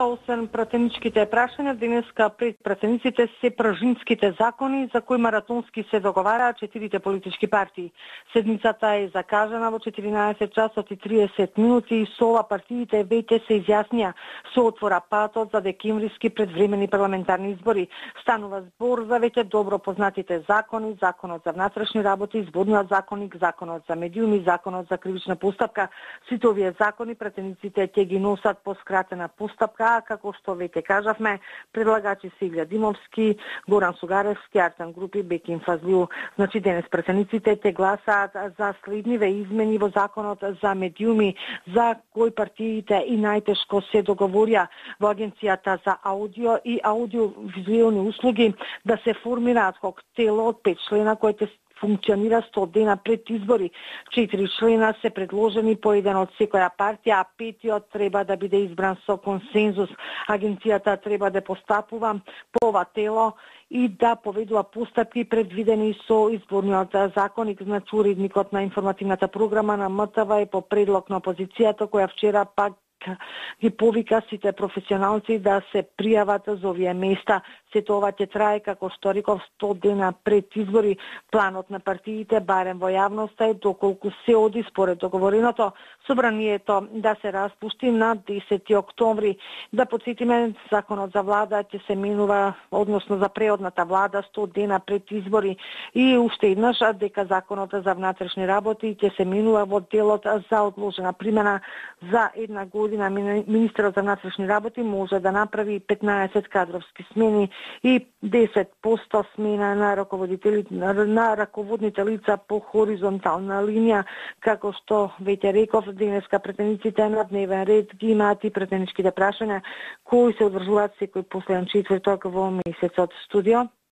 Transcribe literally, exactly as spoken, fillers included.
Освен пратеничките прашања, денеска пред пратениците се пражинските закони за кои маратонски се договараат четирите политички партии. Седмицата е закажана во четиринаесет часот и триесет минути и со ова партиите веќе се изјаснија со отвора патот за декемвриски предвремени парламентарни избори. Станува збор за веќе добро познатите закони, Законот за внатрешни работи, Изборниот законник, Законот за медиуми, Законот за кривична постапка. Сите овие закони пратениците ќе ги носат по скратена постапка, како што веќе кажавме, предлагачи се Илја Димовски, Горан Сугаревски, Артан Групи, Бекин Фазлиу. Значи денес пратениците те гласаат за следниве измени во Законот за медиуми, за кои партиите и најтешко се договорија во Агенцијата за аудио и аудиовизуелни услуги да се формира адхок тело од пет члена кои ќе функционира сто дена пред избори. Четири члена се предложени по еден од секоја партија, а петиот треба да биде избран со консензус. Агенцијата треба да постапува по ова тело и да поведува постапки предвидени со Изборниот законник. Значи уредникот на информативната програма на М Т В е по предлог на опозицијата, која вчера пак ги повика сите професионалци да се пријават за овие места. Сето ова ќе трае, како што реков, сто дена пред избори. Планот на партиите, барем во јавноста, е доколку се оди според договореното, собранието да се распушти на десети октомври. Да подсетиме, законот за влада ќе се менува, односно за преодната влада, сто дена пред избори. И уште еднаш дека законот за внатрешни работи ќе се менува во делот за одложена примена за една година. Министерот за внатрешни работи може да направи петнаесет кадровски смени и десет проценти смена на раководители на раководните лица по хоризонтална линија. Како што веќе реков, денеска претениците на дневен ред ги имаат и претеничките прашања кои се одржуваат секој последен четврток во месецот. Студио.